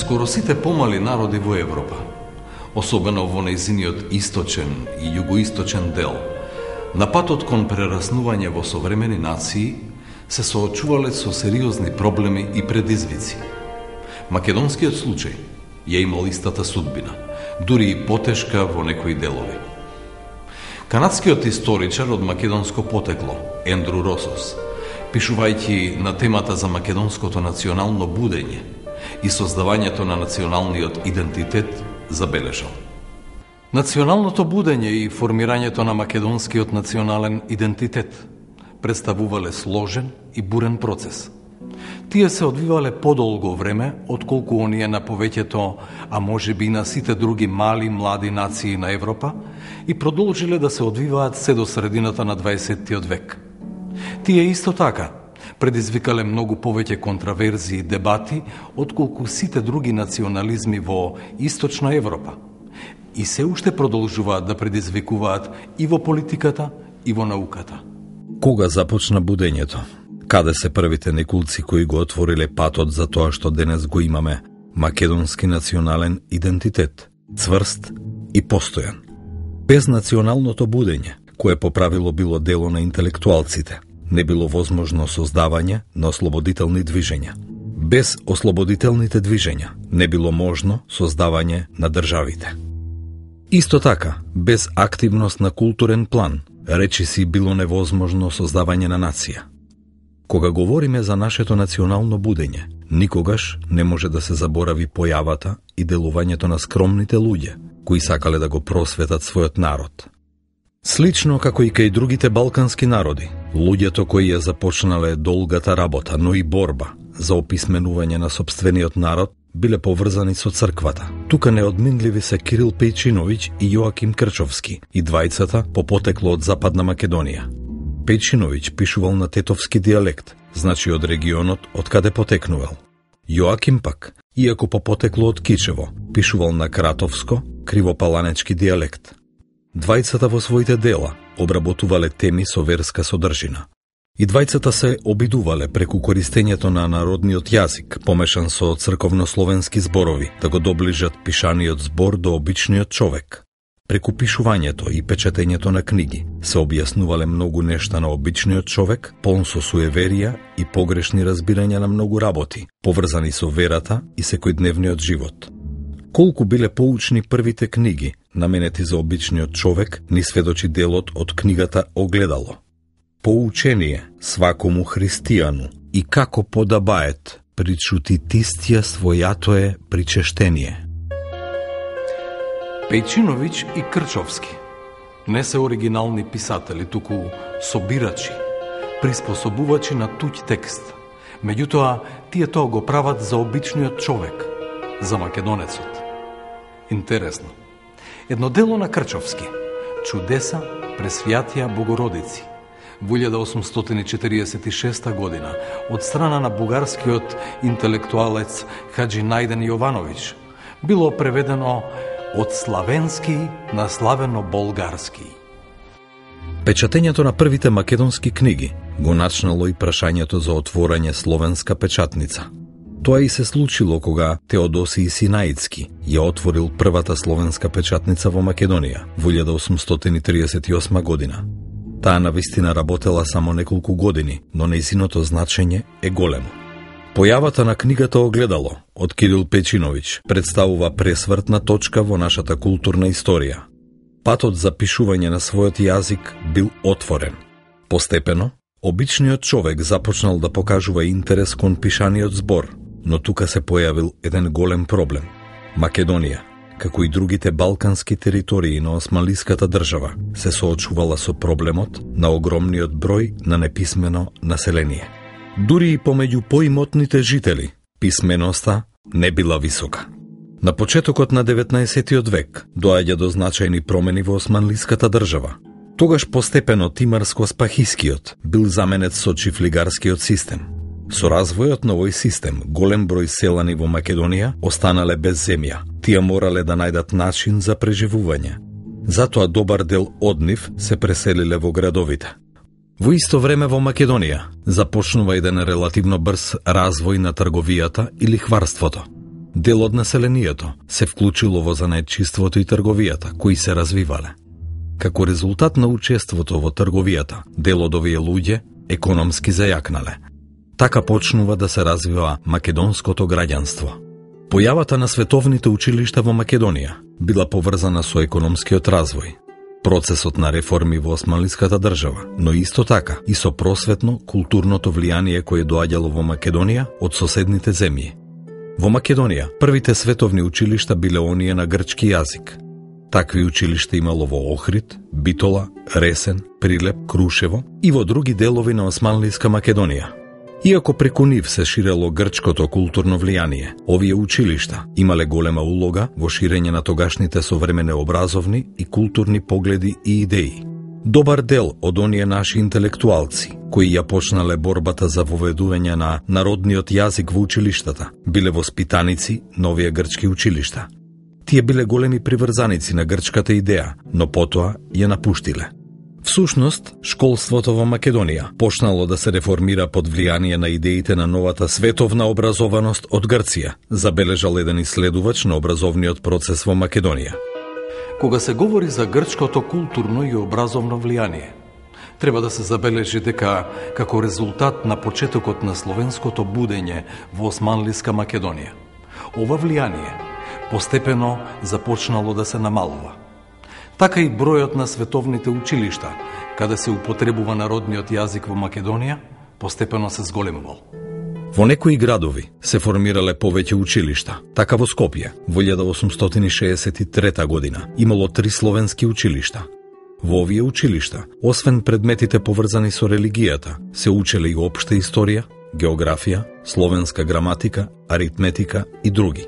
Скоро сите помали народи во Европа, особено во нејзиниот источен и југоисточен дел, на патот кон прераснување во современи нации, се соочувале со сериозни проблеми и предизвици. Македонскиот случај ја имал истата судбина, дури и потешка во некои делови. Канадскиот историчар од македонско потекло, Ендру Росос, пишувајќи на темата за македонското национално будење и создавањето на националниот идентитет, забележал: националното будење и формирањето на македонскиот национален идентитет представувале сложен и бурен процес. Тие се одвивале подолго време отколку оние на повеќето, а можеби и на сите други мали, млади нации на Европа, и продолжиле да се одвиваат се до средината на 20-тиот век. Тие исто така предизвикале многу повеќе контраверзии и дебати отколку сите други национализми во Источна Европа, и се уште продолжуваат да предизвикуваат и во политиката, и во науката. Кога започна будењето? Каде се првите некулци кои го отвориле патот за тоа што денес го имаме, македонски национален идентитет, цврст и постојан? Без националното будење, кое по правило било дело на интелектуалците, не било возможно создавање на ослободителни движења. Без ослободителните движења не било можно создавање на државите. Исто така, без активност на културен план, речиси било невозможно создавање на нација. Кога говориме за нашето национално будење, никогаш не може да се заборави појавата и делувањето на скромните луѓе, кои сакале да го просветат својот народ. Слично како и кај другите балкански народи, луѓето кои ја започнале долгата работа, но и борба за описменување на сопствениот народ, биле поврзани со црквата. Тука неодминливи се Кирил Пејчиновиќ и Јоаким Крчовски, и двајцата по потекло од Западна Македонија. Пејчиновиќ пишувал на тетовски дијалект, значи од регионот од каде потекнувал. Јоаким пак, иако по потекло од Кичево, пишувал на кратовско, кривопаланечки дијалект. Двајцата во своите дела обработувале теми со верска содржина. И двајцата се обидувале преку користењето на народниот јазик, помешан со црковнословенски зборови, да го доближат пишаниот збор до обичниот човек. Преку пишувањето и печатењето на книги се објаснувале многу нешта на обичниот човек, полн со суеверија и погрешни разбирања на многу работи, поврзани со верата и секојдневниот живот. Колку биле поучни првите книги, наменети за обичниот човек, ни сведочи делот од книгата Огледало. Поучение свакому христијану и како подабает причути тистија својато е причештение. Пејчиновиќ и Крчовски не се оригинални писатели, туку собирачи, приспособувачи на туѓ текст. Меѓутоа, тие тоа го прават за обичниот човек, за македонецот. Интересно. Едно дело на Крчовски, Чудеса пресвјатија Богородици, во 1846 година, од страна на бугарскиот интелектуалец Хаджи Најден Јовановиќ, било преведено од славенски на славено-болгарски. Печатењето на првите македонски книги го начнало и прашањето за отворање словенска печатница. Тоа и се случило кога Теодосиј Синаицки ја отворил првата словенска печатница во Македонија во 1838 година. Таа навистина работела само неколку години, но нејзиното значење е големо. Појавата на книгата Огледало од Кирил Пејчиновиќ представува пресвртна точка во нашата културна историја. Патот за пишување на својот јазик бил отворен. Постепено, обичниот човек започнал да покажува интерес кон пишаниот збор, но тука се појавил еден голем проблем. Македонија, како и другите балкански територии на османлиската држава, се соочувала со проблемот на огромниот број на неписмено население. Дури и помеѓу поимотните жители, писменоста не била висока. На почетокот на 19 век доаѓа до значајни промени во османлиската држава. Тогаш постепено тимарско-спахискиот бил заменет со чифлигарскиот систем. Со развојот на овој систем, голем број селани во Македонија останале без земја. Тие морале да најдат начин за преживување. Затоа добар дел од нив се преселиле во градовите. Во исто време во Македонија започнува еден релативно брз развој на трговијата и лихварството. Дел од населението се вклучило во занаетчиството и трговијата, кои се развивале. Како резултат на учеството во трговијата, дел од овие луѓе економски зајакнале. Така почнува да се развива македонското граѓанство. Појавата на световните училишта во Македонија била поврзана со економскиот развој, процесот на реформи во османлиската држава, но исто така и со просветно-културното влијание кое доаѓало во Македонија од соседните земји. Во Македонија првите световни училишта биле оние на грчки јазик. Такви училишта имало во Охрид, Битола, Ресен, Прилеп, Крушево и во други делови на османлиска Македонија. Иако преку нив се ширело грчкото културно влијание, овие училишта имале голема улога во ширење на тогашните современи образовни и културни погледи и идеи. Добар дел од оние наши интелектуалци, кои ја почнале борбата за воведување на народниот јазик во училиштата, биле воспитаници на овие грчки училишта. Тие биле големи приврзаници на грчката идеја, но потоа ја напуштиле. Всушност, школството во Македонија почнало да се реформира под влијание на идеите на новата световна образованост од Грција, забележал еден исследувач на образовниот процес во Македонија. Кога се говори за грчкото културно и образовно влијание, треба да се забележи дека како резултат на почетокот на словенското будење во османлиска Македонија, ова влијание постепено започнало да се намалува. Така и бројот на световните училишта, каде се употребува народниот јазик во Македонија, постепено се зголемувал. Во некои градови се формирале повеќе училишта. Така во Скопје, во 1863 година, имало 3 словенски училишта. Во овие училишта, освен предметите поврзани со религијата, се учеле и општа историја, географија, словенска граматика, аритметика и други.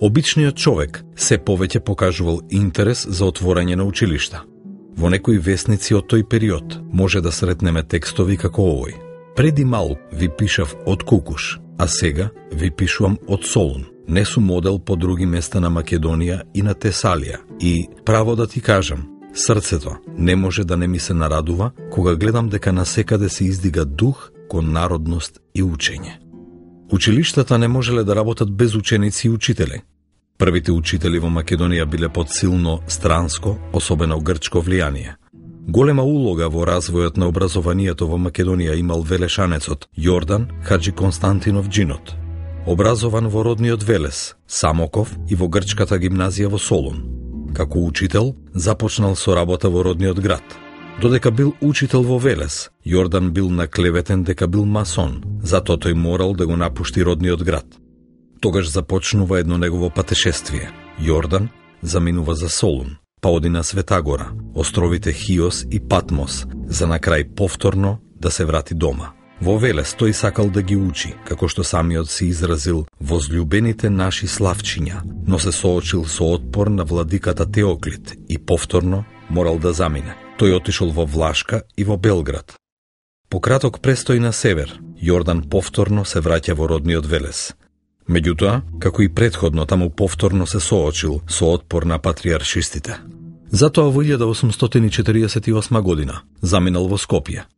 Обичниот човек се повеќе покажувал интерес за отворање на училишта. Во некои весници од тој период може да сретнеме текстови како овој. Преди мал ви пишав од Кукуш, а сега ви пишувам од Солун. Не сум модел по други места на Македонија и на Тесалија. И, право да ти кажам, срцето не може да не ми се нарадува кога гледам дека насекаде се издига дух кон народност и учење. Училиштата не можеле да работат без ученици и учители. Првите учители во Македонија биле под силно странско, особено грчко влијание. Голема улога во развојот на образованието во Македонија имал велешанецот Јордан Хаджи Константинов Джинот, образован во родниот Велес, Самоков и во грчката гимназија во Солун. Како учител започнал со работа во родниот град. Додека бил учител во Велес, Јордан бил наклеветен дека бил масон, затоа тој морал да го напушти родниот град. Тогаш започнува едно негово патешествие. Јордан заминува за Солун, па оди на Светагора, островите Хиос и Патмос, за на крај повторно да се врати дома. Во Велес тој сакал да ги учи, како што самиот се изразил, возлюбените наши славчиња, но се соочил со отпор на владиката Теоклит и повторно морал да замине. Тој отишол во Влашка и во Белград. По краток престој на север, Јордан повторно се враќа во родниот Велес. Меѓутоа, како и претходно, таму повторно се соочил со отпор на патриаршистите. Затоа во 1848 година заминал во Скопје.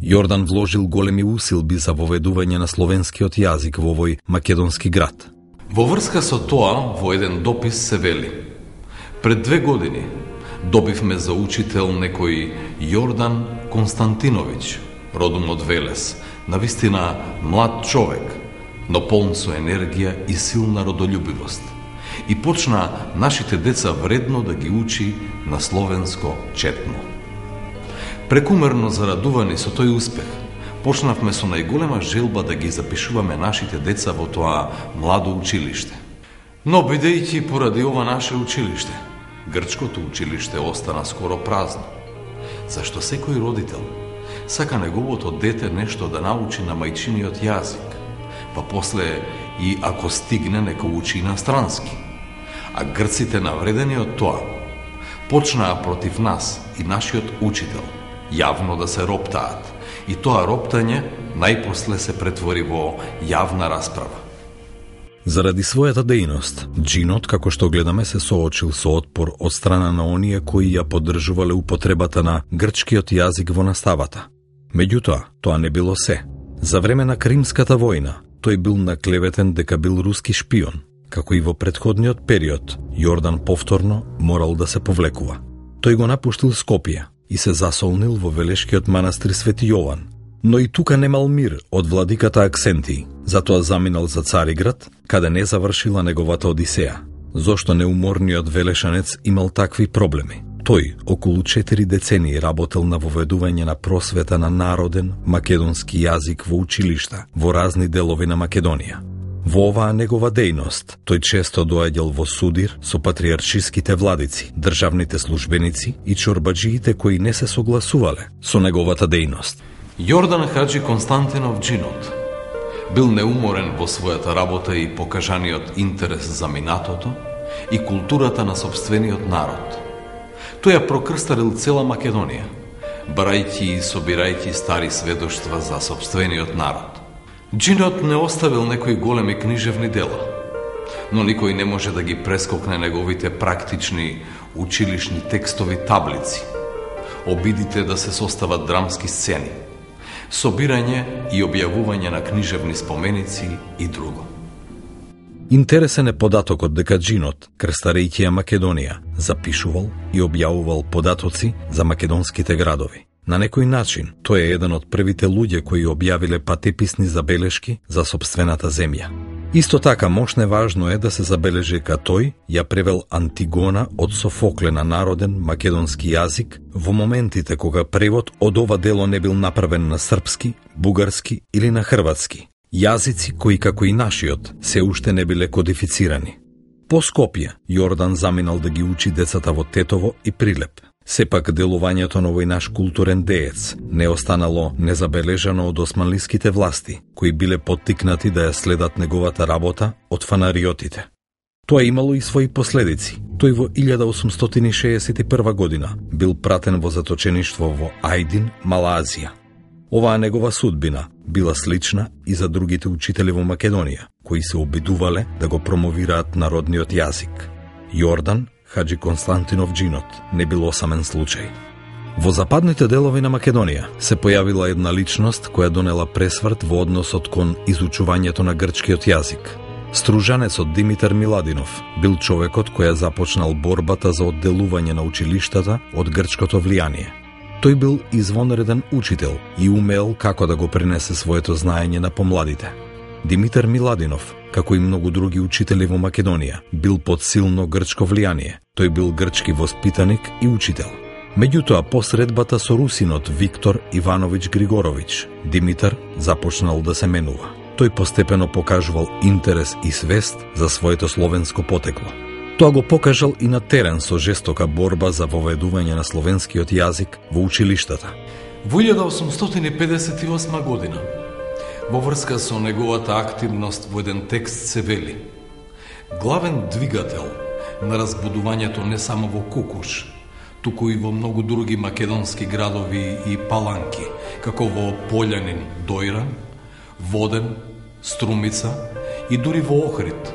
Јордан вложил големи усилби за воведување на словенскиот јазик во овој македонски град. Во врска со тоа, во еден допис се вели: пред 2 години добивме за учител некој Јордан Константиновиќ, родом од Велес, навистина млад човек, но полн со енергија и силна родолюбивост. И почна нашите деца вредно да ги учи на словенско четно. Прекумерно зарадувани со тој успех, почнавме со најголема желба да ги запишуваме нашите деца во тоа младо училиште. Но бидејќи поради ова наше училиште, грчкото училиште остана скоро празно. Зашто секој родител сака неговото дете нешто да научи на мајчиниот јазик, па после и ако стигне нека учи инострански. А грците, навредени од тоа, почнаа против нас и нашиот учител јавно да се роптаат, и тоа роптање најпосле се претвори во јавна расправа. Заради својата дејност, Джинот, како што гледаме, се соочил со отпор од страна на оние кои ја поддржувале употребата на грчкиот јазик во наставата. Меѓутоа, тоа не било се. За време на Кримската војна, тој бил наклеветен дека бил руски шпион. Како и во претходниот период, Јордан повторно морал да се повлекува. Тој го напуштил Скопје и се засолнил во Велешкиот манастир Свети Јован, но и тука немал мир од владиката Аксентиј, затоа заминал за Цариград, каде не завршила неговата Одисеја. Зошто неуморниот велешанец имал такви проблеми? Тој околу 4 децении работел на воведување на просвета на народен македонски јазик во училишта во разни делови на Македонија. Во оваа негова дејност, тој често доаѓал во судир со патриаршиските владици, државните службеници и чорбаджиите кои не се согласувале со неговата дејност. Јордан Хаджи Константинов Джинот бил неуморен во својата работа и покажаниот интерес за минатото и културата на сопствениот народ. Тој ја прокрстарил цела Македонија, барајќи и собирајќи стари сведоштва за сопствениот народ. Джинот не оставил некои големи книжевни дела, но никој не може да ги прескокне неговите практични училишни текстови таблици, обидите да се состават драмски сцени, собирање и објавување на книжевни споменици и друго. Интересен е податокот дека Джинот, крстарејќи ја Македонија, запишувал и објавувал податоци за македонските градови. На некој начин, тој е еден од првите луѓе кои објавиле патеписни забелешки за сопствената земја. Исто така, мошне важно е да се забележи дека тој ја превел Антигона од Софокле на народен македонски јазик во моментите кога превод од ова дело не бил направен на српски, бугарски или на хрватски, јазици кои како и нашиот се уште не биле кодифицирани. По Скопје, Јордан заминал да ги учи децата во Тетово и Прилеп. Сепак делувањето на овој наш културен деец не останало незабележано од османлиските власти, кои биле поттикнати да ја следат неговата работа од фанариотите. Тоа имало и своји последици. Тој во 1861 година бил пратен во заточеништво во Ајдин, Мала Азија. Оваа негова судбина била слична и за другите учители во Македонија, кои се обидувале да го промовираат народниот јазик. Јордан Хаджи Константинов Джинот не бил осамен случај. Во западните делови на Македонија се појавила една личност која донела пресврт во односот кон изучувањето на грчкиот јазик. Стружанецот Димитар Миладинов бил човекот кој започнал борбата за одделување на училиштата од грчкото влијание. Тој бил извонреден учител и умел како да го пренесе своето знаење на помладите. Димитар Миладинов, како и многу други учители во Македонија, бил под силно грчко влијание. Тој бил грчки воспитаник и учител. Меѓутоа, по средбата со русинот Виктор Ивановиќ Григоровиќ, Димитар започнал да се менува. Тој постепено покажувал интерес и свест за своето словенско потекло. Тоа го покажал и на терен со жестока борба за воведување на словенскиот јазик во училиштата. Во 1858 година, во врска со неговата активност во еден текст се вели: главен двигател на разбудувањето не само во Кукуш, туку и во многу други македонски градови и паланки, како во Полјанин, Дојран, Воден, Струмица и дури во Охрид,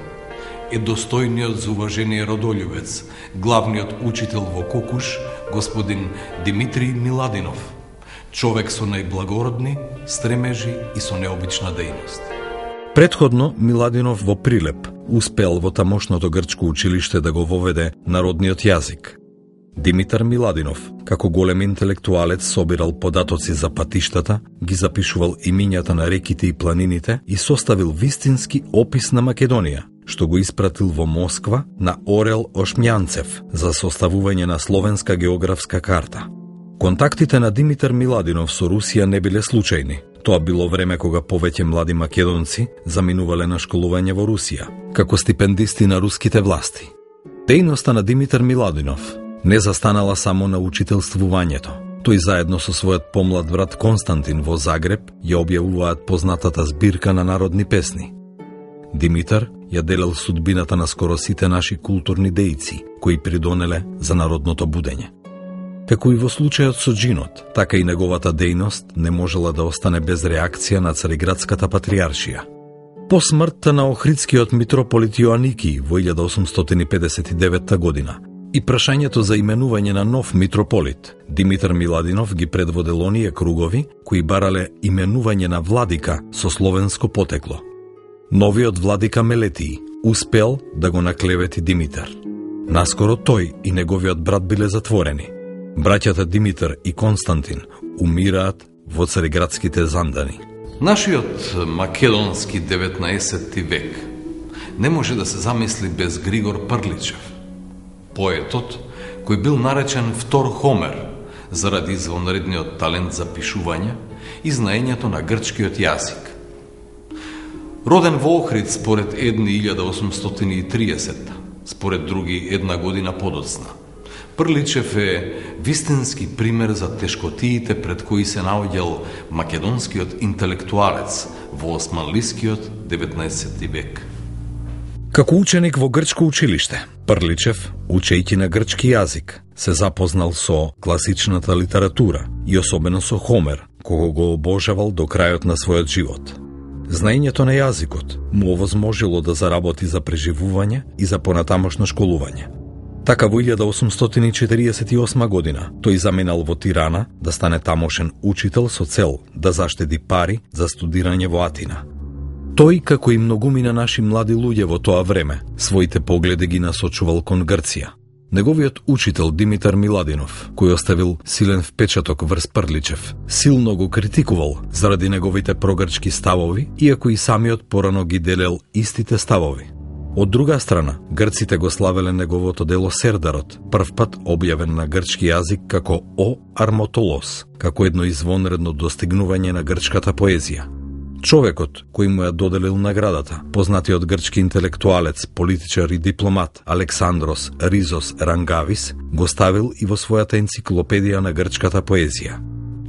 е достојниот за уважение родолюбец, главниот учител во Кукуш, господин Димитри Миладинов, човек со најблагородни стремежи и со необична дејност. Предходно, Миладинов во Прилеп успел во тамошното грчко училиште да го воведе народниот јазик. Димитар Миладинов, како голем интелектуалец, собирал податоци за патиштата, ги запишувал имињата на реките и планините и составил вистински опис на Македонија, што го испратил во Москва на Орел Ошмјанцев за составување на словенска географска карта. Контактите на Димитар Миладинов со Русија не биле случајни. Тоа било време кога повеќе млади македонци заминувале на школување во Русија, како стипендисти на руските власти. Дејноста на Димитар Миладинов не застанала само на учителствувањето. Тој заедно со својот помлад брат Константин во Загреб ја објавуваат познатата збирка на народни песни. Димитар ја делел судбината на скоро сите наши културни дејци, кои придонеле за народното будење. Како и во случајот со Джинот, така и неговата дејност не можела да остане без реакција на Цариградската патриаршија. По смртта на охридскиот митрополит Јоаники во 1859 година и прашањето за именување на нов митрополит, Димитар Миладинов ги предводел оние кругови кои барале именување на владика со словенско потекло. Новиот владика Мелетиј успел да го наклевети Димитар. Наскоро тој и неговиот брат биле затворени. Браќата Димитар и Константин умираат во цариградските зандани. Нашиот македонски 19 век не може да се замисли без Григор Прличев, поетот кој бил наречен втор Хомер заради извонредниот талент за пишување и знаењето на грчкиот јазик. Роден во Охрид според едни 1830, според други една година подоцна, Прличев е вистински пример за тешкотиите пред кои се наоѓал македонскиот интелектуалец во османлискиот 19 век. Како ученик во грчко училиште, Прличев, учејќи на грчки јазик, се запознал со класичната литература и особено со Хомер, кого го обожавал до крајот на својот живот. Знаењето на јазикот му овозможило да заработи за преживување и за понатамошно школување. Така во 1848 година тој заминал во Тирана да стане тамошен учител со цел да заштеди пари за студирање во Атина. Тој, како и многумина наши млади луѓе во тоа време, своите погледи ги насочувал кон Грција. Неговиот учител Димитар Миладинов, кој оставил силен впечаток врз Прличев, силно го критикувал заради неговите прогрчки ставови, иако и самиот порано ги делел истите ставови. Од друга страна, грците го славеле неговото дело Сердарот, првпат објавен на грчки јазик како О Армотолос, како едно извонредно достигнување на грчката поезија. Човекот кој му ја доделил наградата, познатиот грчки интелектуалец, политичар и дипломат Александрос Ризос Рангавис, го ставил и во својата енциклопедија на грчката поезија.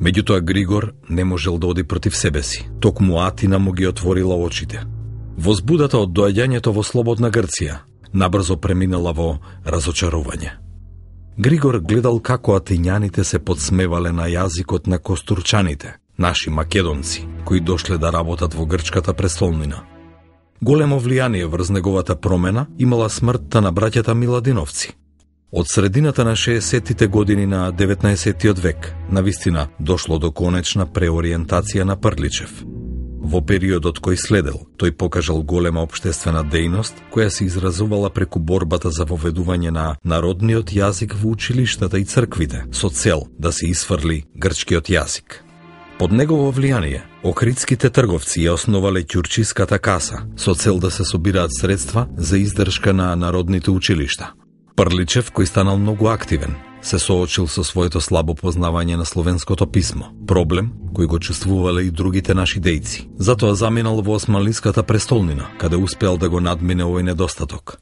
Меѓутоа Григор не можел да оди против себе си, токму Атина му ги отворила очите. Возбудата од доаѓањето во слободна Грција набрзо преминала во разочарување. Григор гледал како атињаните се подсмевале на јазикот на костурчаните, наши македонци, кои дошле да работат во грчката престолнина. Големо влијание врз неговата промена имала смртта на браќата Миладиновци. Од средината на 60-тите години на 19 век, навистина дошло до конечна преориентација на Прличев. Во периодот кој следел, тој покажал голема општествена дејност, која се изразувала преку борбата за воведување на народниот јазик во училиштата и црквите, со цел да се изфрли грчкиот јазик. Под негово влијание, охридските трговци ја основале ќурчиската каса, со цел да се собираат средства за издршка на народните училишта. Прличев, кој станал многу активен, се соочил со своето слабо познавање на словенското писмо, проблем кој го чувствувале и другите наши дејци. Затоа заминал во османлиската престолнина, каде успеал да го надмине овој недостаток.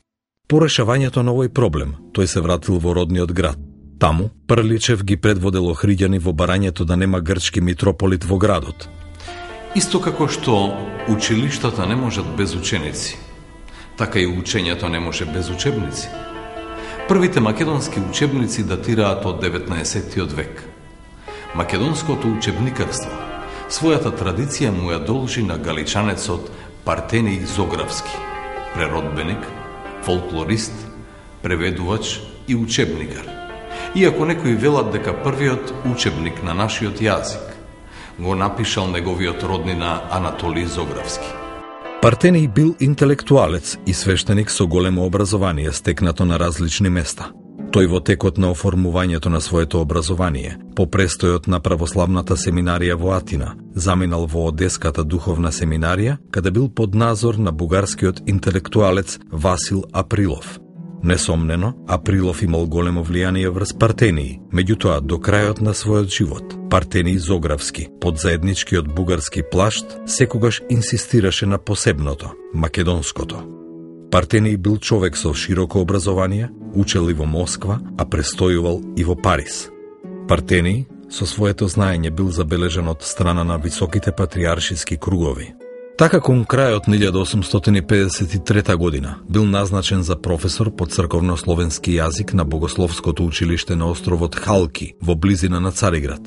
По решавањето на овој проблем, тој се вратил во родниот град. Таму, Прличев ги предводел охриѓани во барањето да нема грчки митрополит во градот. Исто како што училиштата не можат без ученици, така и учењето не може без учебници. Првите македонски учебници датираат од 19 век. Македонското учебникарство својата традиција му ја должи на галичанецот Партенеј Зографски, преродбеник, фолклорист, преведувач и учебникар. Иако некои велат дека првиот учебник на нашиот јазик го напишал неговиот роднина Анатолиј Зографски. Партенеј бил интелектуалец и свештеник со големо образование стекнато на различни места. Тој во текот на оформувањето на своето образование, по престојот на православната семинарија во Атина, заминал во Одеската духовна семинарија, каде бил под надзор на бугарскиот интелектуалец Васил Априлов. Несомнено, Априлов имал големо влијание врз Партенеј, меѓутоа до крајот на својот живот, Партенеј Зографски, под заедничкиот бугарски плашт, секогаш инсистираше на посебното, македонското. Партенеј бил човек со широко образование, учел и во Москва, а престојувал и во Париз. Партенеј со своето знаење бил забележан од страна на високите патриаршиски кругови. Така кон крајот на 1853 година бил назначен за професор по црковно-словенски јазик на Богословското училиште на островот Халки во близина на Цариград.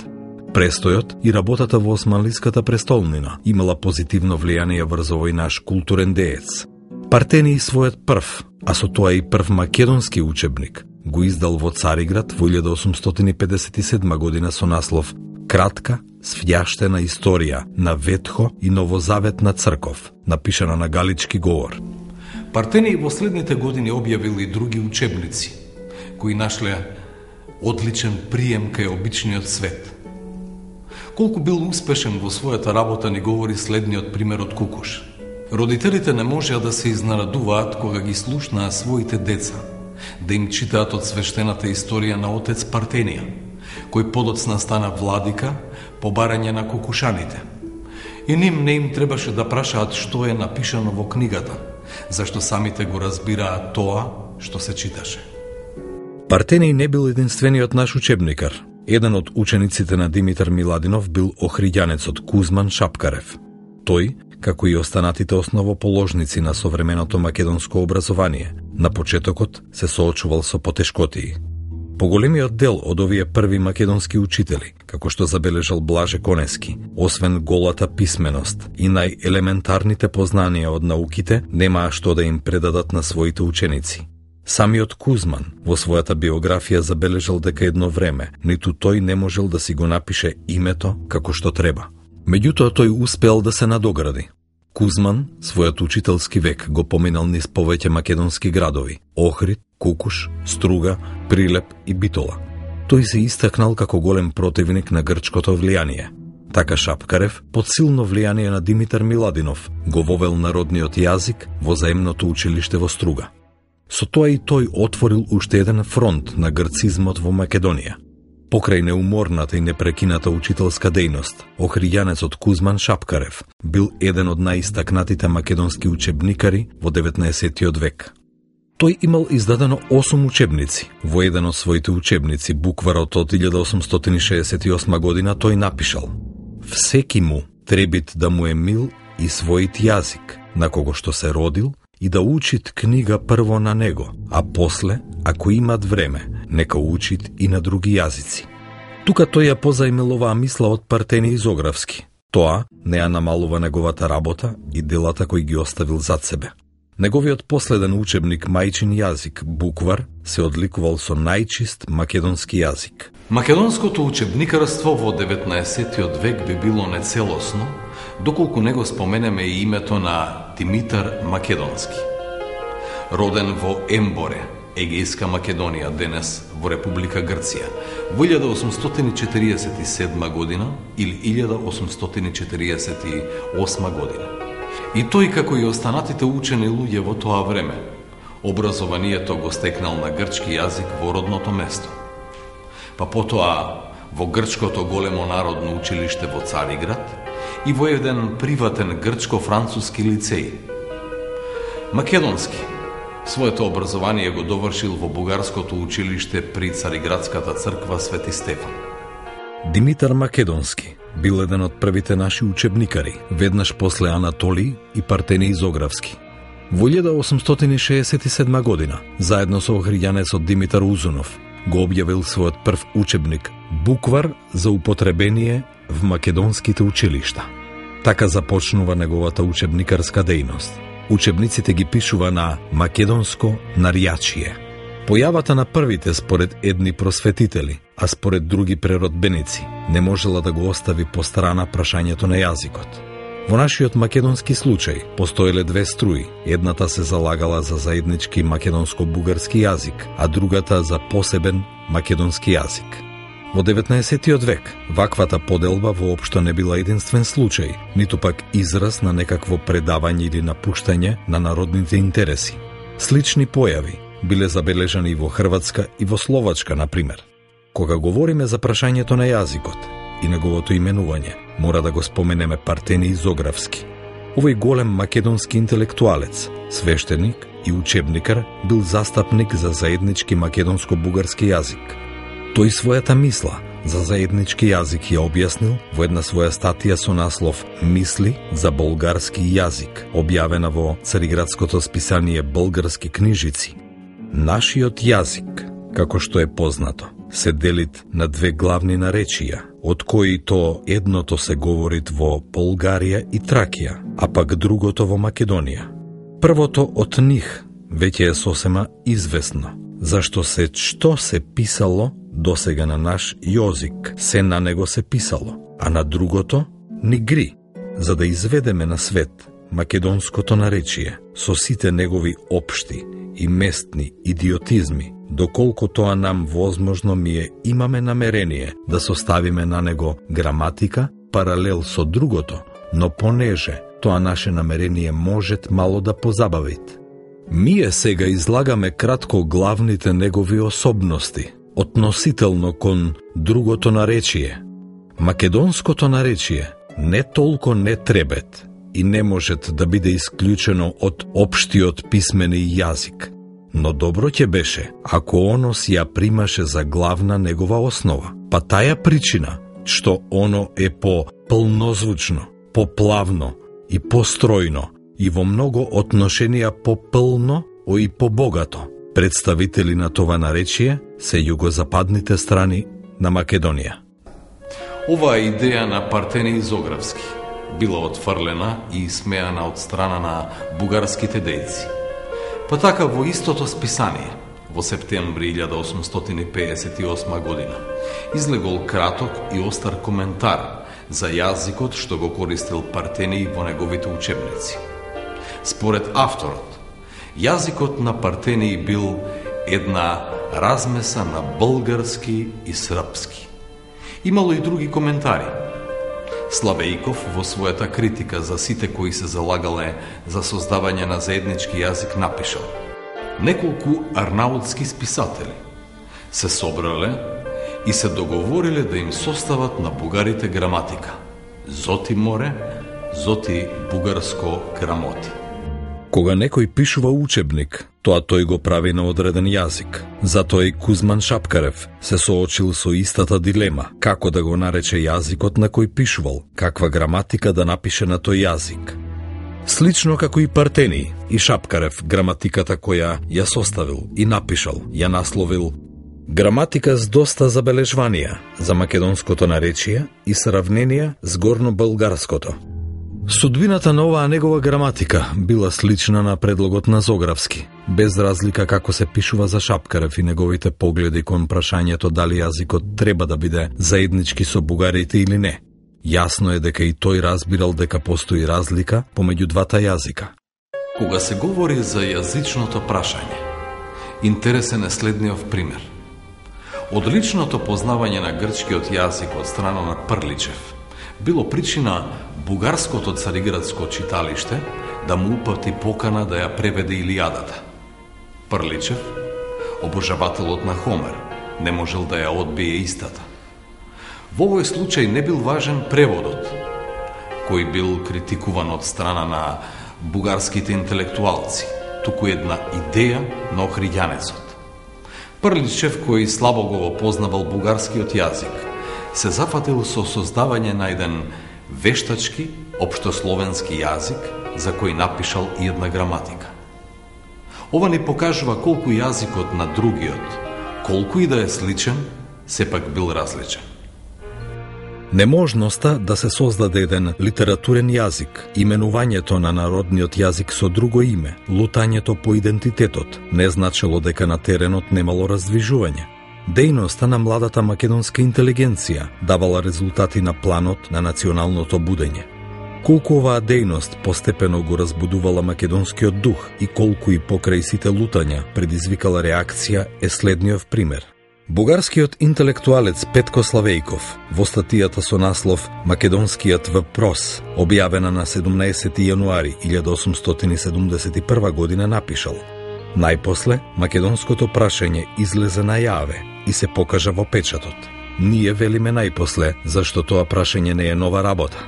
Престојот и работата во османлиската престолнина имала позитивно влијание врз овој наш културен деец. Партенеј својот прв, а со тоа и прв македонски учебник, го издал во Цариград во 1857 година со наслов «Кратка, свјаштена историја на Ветхо и Новозаветна црков», напишана на галички говор. Партени во следните години објавил и други учебници, кои нашле одличен прием кај обичниот свет. Колку бил успешен во својата работа ни говори следниот пример од Кукуш. Родителите не можеа да се изнарадуваат кога ги слушнаа своите деца да им читаат од свештената историја на отец Партенија, кој подоцна стана владика по барање на кукушаните. И ним не им требаше да прашаат што е напишано во книгата, зашто самите го разбираат тоа што се читаше. Партенија не бил единствениот наш учебникар. Еден од учениците на Димитар Миладинов бил охриѓанецот Кузман Шапкарев. Тој, како и останатите основоположници на современото македонско образование, на почетокот се соочувал со потешкотии. Поголемиот дел од овие први македонски учители, како што забележал Блаже Конески, освен голата писменост и најелементарните познанија од науките, немаа што да им предадат на своите ученици. Самиот Кузман во својата биографија забележал дека едно време ниту тој не можел да си го напише името како што треба. Меѓутоа тој успеал да се надогради. Кузман својот учителски век го поминал низ повеќе македонски градови: Охрид, Кукуш, Струга, Прилеп и Битола. Тој се истакнал како голем противник на грчкото влијание. Така Шапкарев, под силно влијание на Димитар Миладинов, го вовел народниот јазик во заемното училиште во Струга. Со тоа и тој отворил уште еден фронт на грцизмот во Македонија. Покрај неуморната и непрекината учителска дејност, охриѓанецот Кузман Шапкарев бил еден од најистакнатите македонски учебникари во 19. век. Тој имал издадено 8 учебници. Во еден од своите учебници, букварот од 1868 година, тој напишал: "Всеки му требит да му е мил и својит јазик, на кого што се родил, и да учит книга прво на него, а после, ако имат време, нека учит и на други јазици." Тука тој ја позаимил оваа мисла од Партени Изографски. Тоа не ја намалува неговата работа и делата кои ги оставил зад себе. Неговиот последен учебник Мајчин јазик, буквар, се одликувал со најчист македонски јазик. Македонското учебникарство во 19. век би било нецелосно, доколку не го споменеме и името на Димитар Македонски. Роден во Емборе, Егејска Македонија, денес во Република Грција, во 1847 година или 1848 година. И тој, како и останатите учени луѓе во тоа време, образованието го стекнал на грчки јазик во родното место. Па потоа во грчкото големо народно училиште во Цариград и во еден приватен грчко-француски лицеј. Македонски своето образование го довршил во бугарското училиште при Цариградската црква Свети Стефан. Димитар Македонски бил еден од првите наши учебникари, веднаш после Анатолиј и Партени Изографски. Во 1867 година, заедно со охриѓанецот Димитар Узунов, го објавил својот прв учебник «Буквар за употребение в македонските училишта». Така започнува неговата учебникарска дејност. Учебниците ги пишува на македонско нарјачие. Појавата на првите според едни просветители, а според други преродбеници, не можела да го остави по страна прашањето на јазикот. Во нашиот македонски случај постоеле две струи. Едната се залагала за заеднички македонско-бугарски јазик, а другата за посебен македонски јазик. Во 19. век, ваквата поделба воопшто не била единствен случај, ниту пак израз на некакво предавање или напуштање на народните интереси. Слични појави биле забележани и во Хрватска и во Словачка, например. Кога говориме за прашањето на јазикот и неговото именување, мора да го споменеме Партени Изографски. Овој голем македонски интелектуалец, свештеник и учебникар бил застапник за заеднички македонско-бугарски јазик. Тој својата мисла за заеднички јазик ја објаснил во една своја статија со наслов «Мисли за болгарски јазик», објавена во цариградското списание «Болгарски книжици». Нашиот јазик, како што е познато, се делит на две главни наречија, од кои то едното се говорит во Болгарија и Тракија, а пак другото во Македонија. Првото од нив веќе е сосема известно, зашто се што се писало досега на наш јазик, се на него се писало, а на другото ни гри. За да изведеме на свет македонското наречие, со сите негови општи и местни идиотизми, доколку тоа нам возможно ми е, имаме намерение да составиме на него граматика, паралел со другото, но понеже тоа наше намерение может мало да позабавит. Мие сега излагаме кратко главните негови особности, относително кон другото наречие. Македонското наречие не толку не требет и не может да биде исклучено од општиот писмени јазик, но добро ќе беше ако оно си ја примаше за главна негова основа, па таја причина што оно е по-пълнозвучно, поплавно и постројно и во многу отношенија попълно и побогато. Представители на това наречие се југозападните страни на Македонија. Оваа идеја на Партенеј Зографски била отфрлена и смеана од страна на бугарските дејци. Па така во истото списание, во септември 1858 година, излегол краток и остар коментар за јазикот што го користил Партенеј во неговите учебници. Според авторот, јазикот на Партенеј бил една размеса на български и српски. Имало и други коментари. Славејков во својата критика за сите кои се залагале за создавање на заеднички јазик напишал: неколку арнаутски списатели се собрале и се договориле да им состават на бугарите граматика. Зоти море, зоти бугарско грамоти. Кога некој пишува учебник, тоа тој го прави на одреден јазик. Затоа и Кузман Шапкарев се соочил со истата дилема, како да го нарече јазикот на кој пишувал, каква граматика да напише на тој јазик. Слично како и Партенеј и Шапкарев, граматиката која ја составил и напишал, ја насловил «Граматика с доста забележванија за македонското наречие и сравненија с горно-българското». Судбината на оваа негова граматика била слична на предлогот на Зографски, без разлика како се пишува за Шапкарев и неговите погледи кон прашањето дали јазикот треба да биде заеднички со бугарите или не. Јасно е дека и тој разбирал дека постои разлика помеѓу двата јазика. Кога се говори за јазичното прашање, интересен е следниот пример. Одличното познавање на грчкиот јазик од страна на Прличев било причина бугарското цариградско читалиште да му упати покана да ја преведе Илијадата. Прличев, обожавателот на Хомер, не можел да ја одбие истата. Во овој случај не бил важен преводот, кој бил критикуван од страна на бугарските интелектуалци, туку една идеја на охриѓанецот. Прличев, кој слабо го познавал бугарскиот јазик, се зафатил со создавање на еден вештачки, општословенски јазик, за кој напишал и една граматика. Ова ни покажува колку јазикот на другиот, колку и да е сличен, сепак бил различен. Неможноста да се создаде еден литературен јазик, именувањето на народниот јазик со друго име, лутањето по идентитетот, не значело дека на теренот немало раздвижување. Дејноста на младата македонска интелигенција давала резултати на планот на националното будење. Колку оваа дејност постепено го разбудувала македонскиот дух и колку и покрај сите лутања предизвикала реакција е следниот пример. Бугарскиот интелектуалец Петко Славејков во статијата со наслов «Македонскиот въпрос», објавена на 17 јануари 1871 година, напишал: најпосле македонското прашање излезе најаве и се покажа во печатот. Ние велиме најпосле, зашто тоа прашање не е нова работа.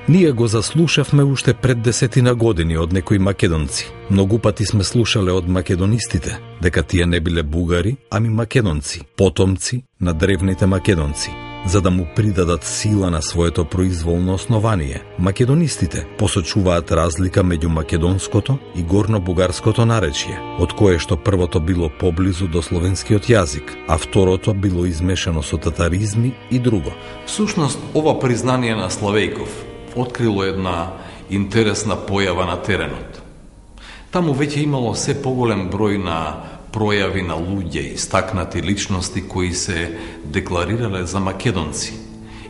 Ние го заслушавме уште пред 10 години од некои македонци. Многу пати сме слушале од македонистите дека тие не биле бугари, ами македонци, потомци на древните македонци. За да му придадат сила на своето произволно основание, македонистите посочуваат разлика меѓу македонското и горно-бугарското наречие, од кое што првото било поблизу до словенскиот јазик, а второто било измешано со татаризми и друго. Всушност, ова признание на Славејков открило една интересна појава на теренот. Таму веќе имало се поголем број на пројави на луѓе, истакнати личности кои се декларирале за македонци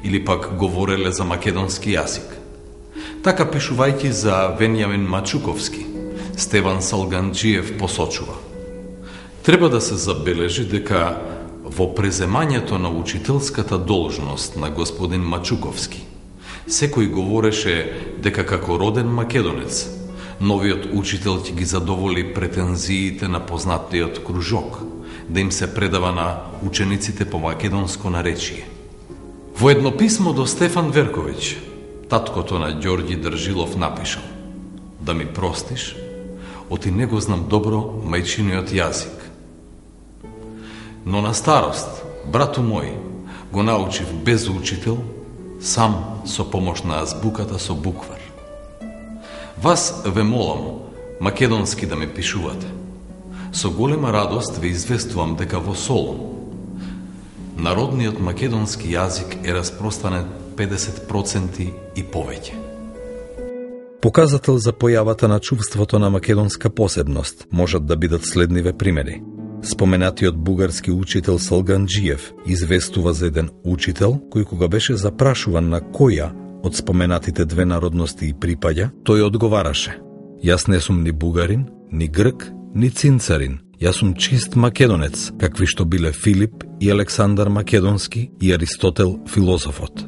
или пак говореле за македонски јазик. Така пишувајќи за Венијамин Мачуковски, Стеван Салганџиев посочува: треба да се забележи дека во преземањето на учителската должност на господин Мачуковски, секој говореше дека како роден македонец, новиот учител ќе ги задоволи претензиите на познатиот кружок, да им се предава на учениците по македонско наречие. Во едно писмо до Стефан Верковиќ, таткото на Ѓорѓи Држилов напишал: да ми простиш, оти не го знам добро мајчиниот јазик. Но на старост, брату мој, го научив без учител, сам со помош на азбуката со буквар. Вас ве молам македонски да ми пишувате. Со голема радост ве известувам дека во Солун народниот македонски јазик е распространет 50% и повеќе. Показател за појавата на чувството на македонска посебност можат да бидат следниве примери. Споменатиот бугарски учител Салганџиев известува за еден учител кој кога беше запрашуван на која од споменатите две народности и припаѓа, тој одговараше: јас не сум ни бугарин, ни грк, ни цинцарин. Јас сум чист македонец, какви што биле Филип и Александар Македонски и Аристотел филозофот.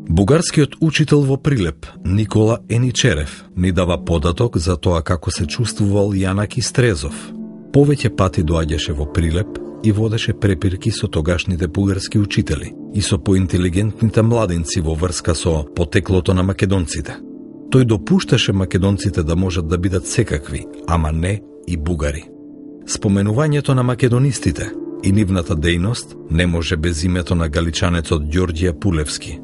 Бугарскиот учител во Прилеп, Никола Еничерев, ни дава податок за тоа како се чувствувал Јанаки Стрезов. Повеќе пати доаѓаше во Прилеп и водеше препирки со тогашните бугарски учители и со поинтелигентните младинци во врска со потеклото на македонците. Тој допушташе македонците да можат да бидат секакви, ама не и бугари. Споменувањето на македонистите и нивната дејност не може без името на галичанецот Ѓорѓе Пулевски.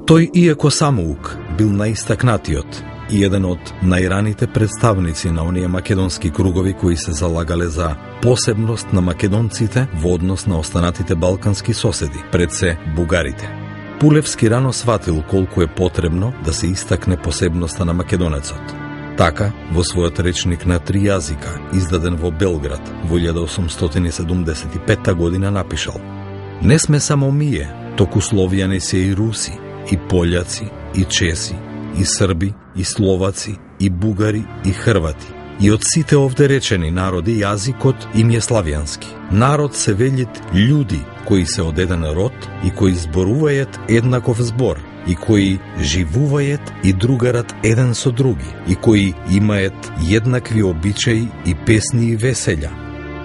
Тој, иако самоук, бил наистакнатиот и еден од најраните представници на оние македонски кругови кои се залагале за посебност на македонците во однос на останатите балкански соседи, пред се бугарите. Пулевски рано сватил колку е потребно да се истакне посебноста на македонецот. Така, во својот речник на 3 јазика, издаден во Белград во 1875 година, напишал: не сме само мие, току словјани се и руси, и пољаци, и чеси, и срби, и словаци, и бугари, и хрвати. И од сите овде речени народи јазикот им е славјански. Народ се велит људи кои се од еден род и кои зборуваат еднаков збор, и кои живуваат и другарат еден со други, и кои имаат еднакви обичаи и песни и веселја.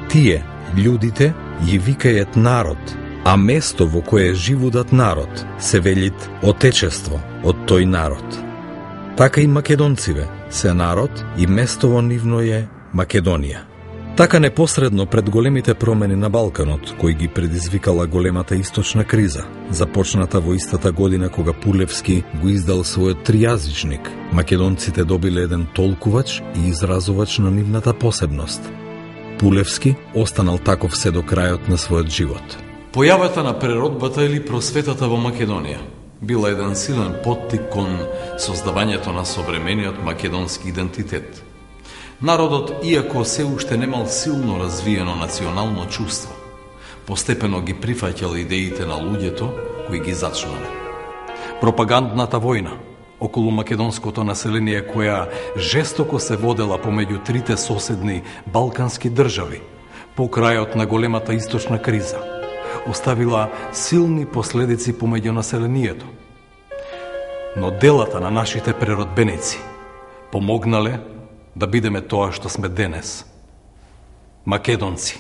Тие, људите, ја викаат народ, а место во кое живудат народ се велит отечество од тој народ. Така и македонциве се народ и место во нивно е Македонија. Така непосредно пред големите промени на Балканот, кои ги предизвикала големата источна криза, започната во истата година кога Пулевски го издал својот тријазичник, македонците добиле еден толкувач и изразувач на нивната посебност. Пулевски останал таков се до крајот на својот живот. Појавата на преродбата или просветата во Македонија била еден силен поттик кон создавањето на современиот македонски идентитет. Народот, иако се уште немал силно развиено национално чувство, постепено ги прифаќал идеите на луѓето кои ги зачнале. Пропагандната војна околу македонското население, која жестоко се водела помеѓу трите соседни балкански држави по крајот на големата источна криза, оставила силни последици помеѓу населението. Но делата на нашите преродбеници помогнале да бидеме тоа што сме денес. Македонци.